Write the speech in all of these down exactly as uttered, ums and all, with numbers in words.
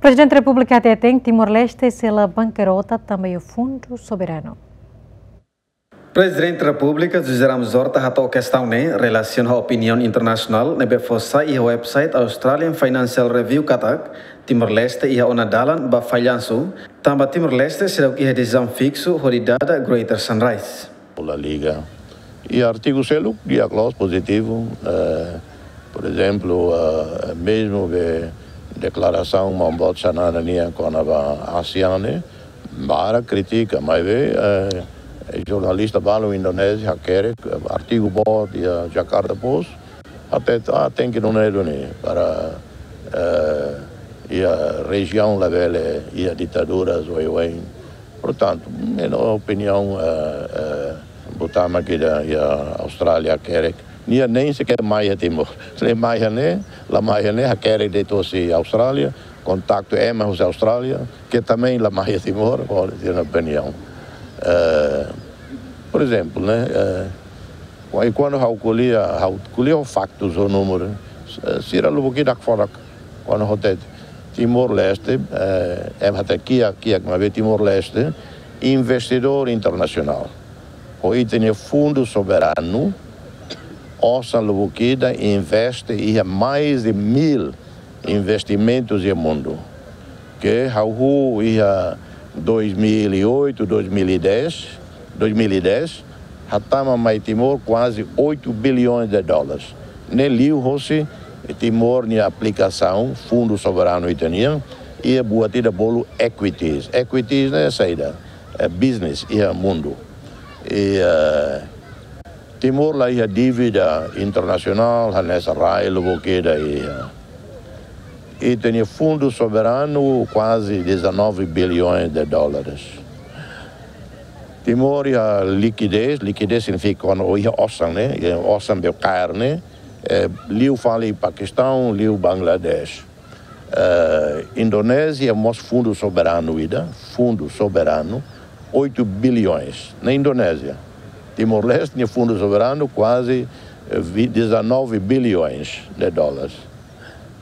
Prezidente Repúblika hateten Timor-Leste sei la bankarota tanba iha fundu soberanu. Prezidente Repúblika José Ramos Horta hato'o kestaun ne'e relasiona ho opiniaun internasionál ne'ebé fó sai iha website Australian Financial Review katak Timor-Leste iha ona dalan ba fallansu, tanba Timor-Leste seidauk iha desizaun fiksu hodi dada Greater Sunrise. La Liga. I artigu seluk di'ak loos, pozitivu, eh, por ezemplu, eh, mezmu be deklarasaun Maun Boot Xanana nian kona-ba ASEAN ne'e, barak kritika, maibé, eh, jornalista balu Indonézia hakerek, eh, artigu boot iha Jakarta Post, até, ah, tenke nune'e duni para, eh, iha rejiaun labele iha ditaduras oioin. Portantu, ne'e opiniaun, eh, eh, buat mak ida iha Austrália hakerek. Nia nein seker mai iha Timor. Ne'e mai iha ne'e, la mai iha ne'e, hakerek de'it hosi Austrália, kontaktu ema hosi Austrália, ke também la mai iha Timor, ho sira-nia opiniaun. Eh, por ezemplu, ne'e, eh, i kuandu ha'u ko'alia, ha'u ko'alia ho faktus, ho númeru, eh, sira lubuk ida hakfodak. Kuandu hatete Timor-Leste, eh, ema hatete kiak, kiak, maibé Timor-Leste, investidór internasionál. Ho ita-nia fundu soberanu, osan lubuk ida investe iha mais de mil investimentus iha mundu. Ke ha'u hahú iha dois mil e oito, dois mil e dez, dois mil e dez, hatama mai Timor kuaze oito bilhões de dólares. Ne'e liu hosi Timor nia aplikasaun fundu soberanu ita-nian, iha buat ida bolu equities. Equities ne'e saida? Eh, business iha mundu. I, eh, Timor la iha dívida internasionál, hanesan rai lubuk ida iha. Ita-nia fundu soberanu kuaze dezanove bilhões de dólares. Timor iha likidez, likidez signifika kuandu iha osan, ne'e, iha osan be kaer ne'e, eh, liu fali Pakistaun, liu Bangladesh. Eh, Indonézia mós fundu soberanu ida, fundu soberanu, oito bilhões. Na Indonézia, Timor-Leste nia fundu soberanu kuaze, eh, vi-, dezanove bilhões de dólares.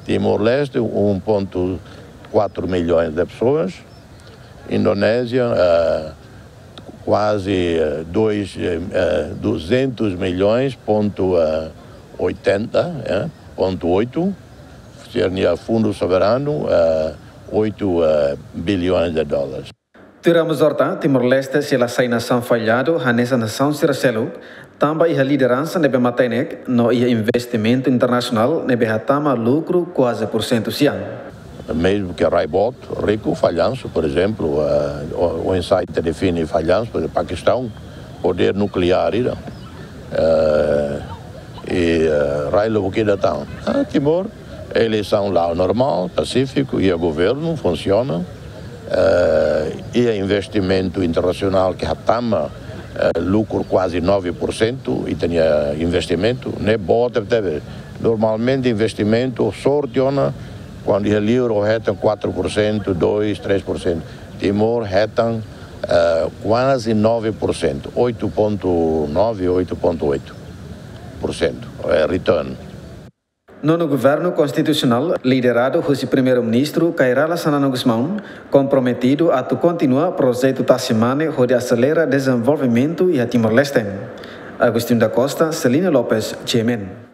Timor-Leste, um ponto quatro milhões de pessoas. Indonézia, eh, kuaze, eh, dois, eh, eh, duzentos milhões, ponto, eh, oitenta, eh, ponto oito. Sira-nia fundu soberanu, eh, oito, eh, bilhões de dólares. Tuir Ramos Horta, Timor-Leste sei la sai nasaun falladu hanesan nasaun sira seluk, tanba iha lideransa ne'ebé matenek, no iha investimentu internasionál ne'ebé hatama lukru kuaze porsentu sian. Mezmu ke rai boot, riku, fallansu, por ezemplu, eh, o, oinsá ita define fallansu, por ezemplu, Pakistaun, podér nukleár ida. Eh, i, eh, rai lubuk ida tan. Ah, Timor, eleisaun la'o normál, pasífiku, iha governu, funsiona. Eh, iha investimentu internasionál ke hatama, eh, lukru kuaze nove porsentu, ita-nia investimentu, ne'e boot tebetebes. Normalmente investimentu, sorte ona, kuandu iha liur hetan quatro por cento, dois, três por cento. Timor hetan, eh, kuaze nove por cento, oito ponto nove, oito ponto oito por cento, eh, return. Nonu Governu Konstitusionál, lideradu hosi Primeiru-Ministru Kay Rala Xanana Gusmão, komprometidu atu kontinua projetu Tasi Mane hodi aselera dezenvolvimentu iha Timor-Leste. Agostinho da Costa, Celina Lopes, G M N.